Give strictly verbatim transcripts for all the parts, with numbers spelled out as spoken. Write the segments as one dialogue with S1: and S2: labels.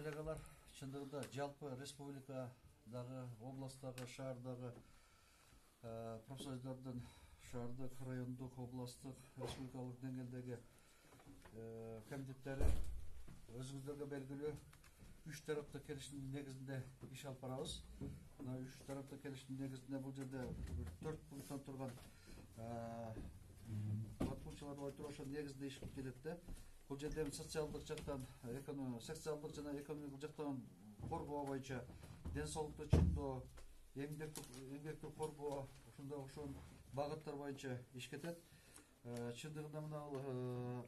S1: коллегалар, чындыгында жалпы республикадагы, областтагы, шаардагы профсоюздардын шаардык, райондук, областтык, республикалык деңгээлдеги комитеттери өзүңүздөргө белгилүү үч тараптык келишимдин негизинде иш алып барабыз. Мына үч тараптык келишимдин негизинде бул жерде төрт пункттан турган батмунчалар ой туруп ошол негизинде иш кылып келет да. Бул жерде социалдык жактан, социалдык жана экономикалык жактан коргоо боюнча ден соолукту чыңдоо, эмгекти коргоо, ушундай ошол багыттар боюнча иш кетет. Чындыгында мына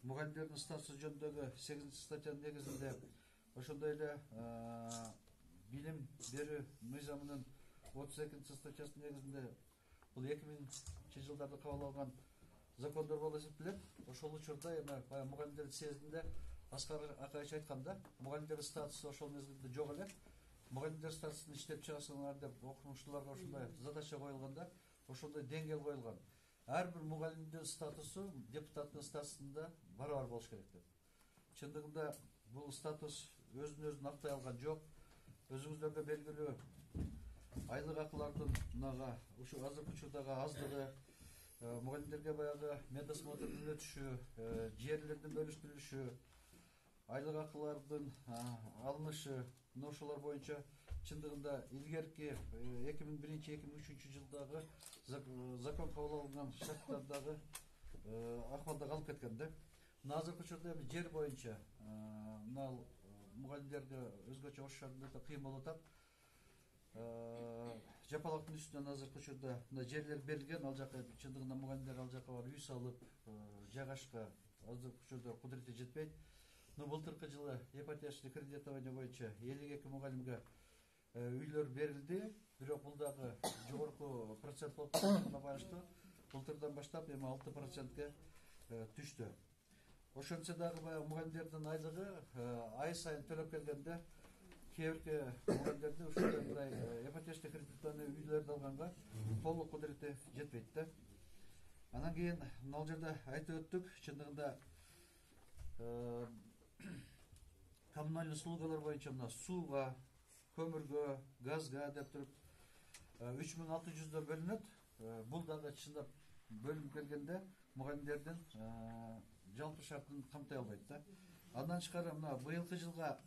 S1: мугалимдердин статусу жөнүндөгү сегизинчи статьянын негизинде ошондой эле билим берүү мыйзамынын отуз экинчи статьясынын негизинде бул эки миңинчи жылдарда кабыл алган закондор болуп эсептелет. Ошол учурда эми баягы мугалимдердин съездинде Аскар Акаевич айтканда, мугалимдердин статусу ошол мезгилде жок эле. Мугалимдер статусун иштеп чыгасыңар деп окумуштууларга ошондой задача коюлганда, ошондой деңгээл коюлган. Ар бир мугалимдин статусу депутаттын статусунда барабар болуш керек деп. Чындыгында бул статус өзүн өзү актай алган жок. Өзүңүздөргө белгилүү айлык акылардын мынага ушу азыркы учурдагы аздыгы, мугалимдерге баягы медосмотрдун өтүшү, жерлердин бөлүштүрүлүшү, айлык акылардын алынышы, мына ошолор боюнча чындыгында илгерки эки миң биринчи эки миң үчүнчү жылдагы закон кабыл алынган шарттардагы акыбалда калып кеткен да. Мына азыркы учурда эми жер боюнча мына мугалимдерге өзгөчө ош шаарында да кыйын болуп атат. Жапалактын үстүнөн азыркы учурда мына жерлер берилген, ал жака чындыгында мугалимдер ал жака барып үй салып жайгашка азыркы учурда кудурети жетпейт. Но былтыркы жылы ипотечный кредитование боюнча элүү эки мугалимге үйлөр берилди, бирок бул дагы жогорку процент болуп атканына байланыштуу былтырдан баштап эми алты процентке түштү. Ошентсе дагы баягы мугалимдердин айлыгы ай сайын төлөп келгенде кээ бир мугалимдерде ушундай мындай ипотечный кредитование үйлөрдү алганга толук кудурети жетпейт да. Анан кийин мына жерде айтып өттүк, чындыгында коммунальный услугалар боюнча мына сууга, көмүргө, газга деп туруп үч миң алты жүздөр бөлүнөт. Бул дагы чындап бөлүнүп келгенде мугалимдердин жалпы шартын камтай албайт да. Андан тышкары мына быйылкы жылга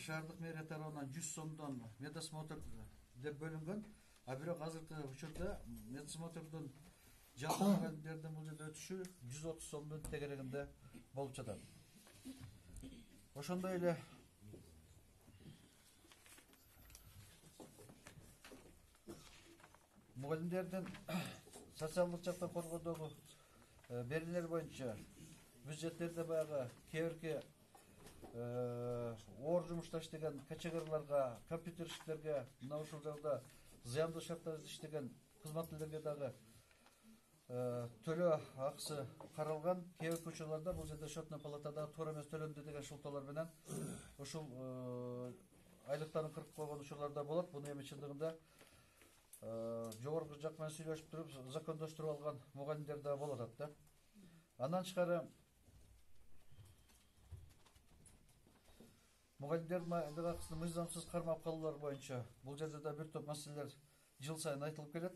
S1: шаардык мэрия тарабынан жүз сомдон медосмотр деп бөлүнгөн, а бирок азыркы учурда медосмотрдун жалпы мугалимдердин бул жерде өтүшү жүз отуз сомдун тегерегинде болуп жатат. Ошондой эле мугалимдердин социалдык жактан коргоодогу берүүлөр боюнча бюджеттерде баягы кээ бирки оор жумушта иштеген качегарларга, компьютерщиктерге, мына ушул жакта зыяндуу шарттарда иштеген кызматкерлерге дагы төлөө акысы каралган. Кээ бир учурларда бул жерде счетный палатада туура эмес төлөндү деген шылтоолор менен ушул айлыктарын кыркып койгон учурлар да болот. Буну эми чындыгында жогорку жак менен сүйлөшүп туруп закондоштуруп алган мугалимдер да болуп атат да. Андан тышкары мугалимдердин айлык акысын мыйзамсыз кармап калуулар боюнча бул жерде да бир топ маселелер жыл сайын айтылып келет.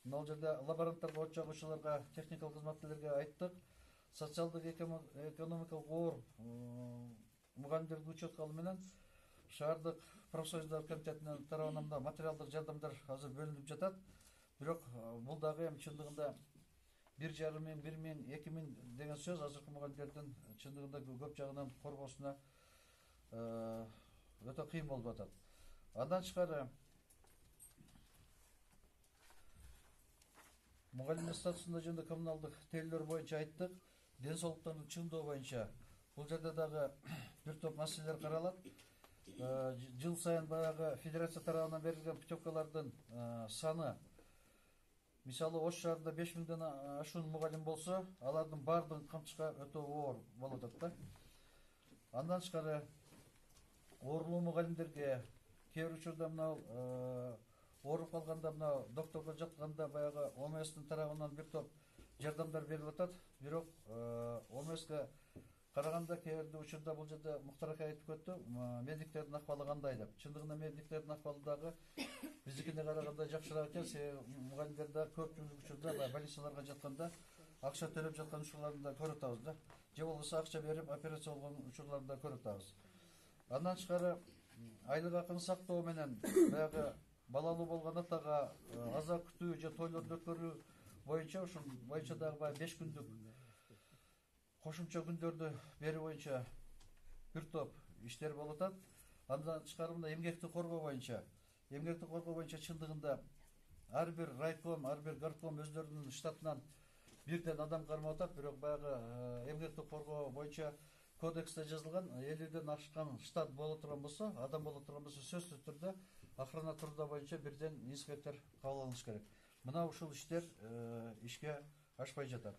S1: Мына жерде лаборанттарга, от жагуучуларга, техникалык кызматкерлерге айттык. Социалдык экономикалык оор мугалимдерди учетко алуу менен шаардык профсоюздар комитетинин тарабынан да материалдык жардамдар азыр бөлүнүп жатат. Бирок бул дагы эми чындыгында бир жарым миң, бир миң, эки миң деген сөз азыркы мугалимдердин чындыгында көп жагынан коргоосуна өтө кыйын болуп атат. Андан тышкары мугалимдин статусунда жөнүндө коммуналдык тейлөөр боюнча айттык. Ден соолуктарын чыңдоо боюнча бул жерде дагы бир топ маселелер каралат. Жыл сайын баягы федерация тарабынан берилген путевкалардын саны, мисалы Ош шаарында беш миңден ашуун мугалим болсо, алардын баардыгын камтышка өтө оор болуп атат да. Андан тышкары оорлуу мугалимдерге кээ бир учурда мына ооруп калганда, мына докторго жатканда баягы О М S'тин тарабынан бир топ жардамдар берилип атат. Бирок О М S'ке караганда кээ бир учурда бул жерде Муктар ака айтып өттү, медиктердин акыбалы кандай деп. Чындыгында медиктердин акыбалы дагы биздикине караганда жакшыраак экен. Себеби мугалимдер да көпчүлүк учурда больницаларга жатканда акча төлөп жаткан учурларын да көрүп атабыз да. Же болбосо акча берип операция болгон учурларды да көрүп атабыз. Андан тышкары айлык акын сактоо менен баягы балалуу болгон атага аза күтүү же тойлорду өткөрүү боюнча ушул боюнча дагы баягы беш күндүк кошумча күндөрдү берүү боюнча бир топ иштер болуп атат. Андан тышкары мына эмгекти коргоо боюнча, эмгекти коргоо боюнча чындыгында ар бир райком, ар бир горком өздөрүнүн штатынан бирден адам кармап атат, бирок баягы эмгекти коргоо боюнча кодексте жазылган элүүдөн ашкан штат боло турган болсо, адам боло турган болсо сөзсүз түрдө охрана труда боюнча бирден инспектор кабыл алыныш керек. Мына ушул иштер ишке ашпай жатат.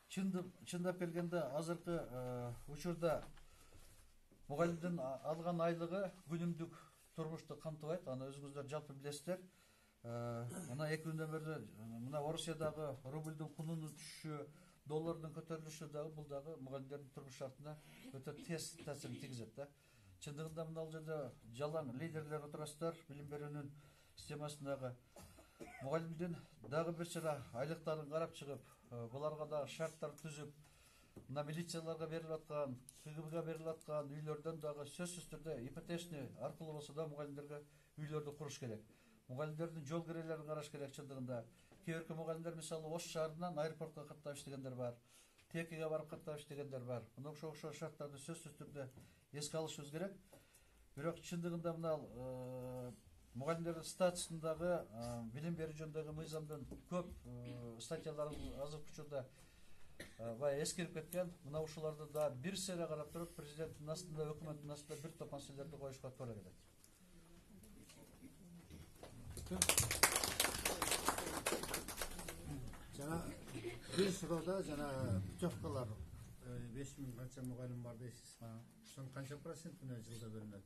S1: Чындап келгенде азыркы учурда мугалимдин алган айлыгы күнүмдүк турмушту камтыбайт. Аны өзүңүздөр жалпы билесиздер. Мына эки күндөн бери мына Орусиядагы рубльдин кунунун түшүшү, доллардын көтөрүлүшү дагы бул дагы мугалимдердин турмуш шартына өтө терс таасирин тийгизет да. Чындыгында мына бул жерде жалаң лидерлер отурасыздар, билим берүүнүн системасындагы мугалимдин дагы бир чара айлыктарын карап чыгып, буларга дагы шарттар түзүп, мына милицияларга берилип аткан, КГБга берилип аткан үйлөрдөн дагы сөзсүз түрдө ипотечный аркылуу болсо да мугалимдерге үйлөрдү куруш керек. Мугалимдердин жол кирелерин караш керек. Чындыгында кээ бирки мугалимдер мисалы Ош шаарынан аэропортко каттап иштегендер бар, Текиге барып каттап иштегендер бар. Мына ошол ошол шарттарды сөзсүз түрдө эске алышыбыз керек. Бирок чындыгында мына мугалимдердин статусундагы билим берүү жөнүндөгү мыйзамдын көп статьялары азыркы учурда баягы эскирип кеткен. Мына ушуларды да бир сере карап туруп, президенттин астында, өкмөттүн астында бир топ маселелерди коюшка туура келет.
S2: Жана бир суроодо жана путевкалар беш миң канча мугалим бар дейсиз. Ошонун канча процентине жылда бөлүнөт?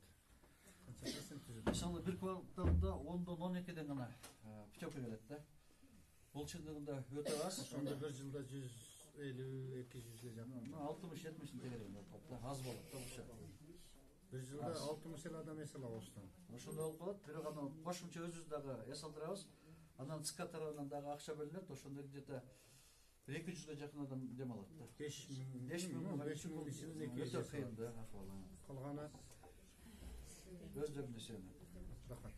S2: Канча процент түзөт?
S1: Мисалы бир кварталда ондон он экиден гана путевка келет да. Бул чындыгында өтө аз.
S2: Ошондо бир жылда жүз элүү эки жүзгө жакын.
S1: алтымыш жетимиштин тегерегинде болот да, аз болот да ушул.
S2: Бир жылда алтымыш элүү адам эс алат Оштон.
S1: Ошондой болуп калат. Бирок аны кошумча өзүбүз дагы эс алдырабыз. Анан ЦК тарабынан дагы акча бөлүнөт. Ошондо где-то эки жүзгө жакын адам дем алат да.
S2: беш миң, беш миң, беш миң ичинде эки жүз.
S1: Өтө кыйын да акыбалы.
S2: Калганы
S1: өздөрүнө сүйөнөт.
S2: Рахмат.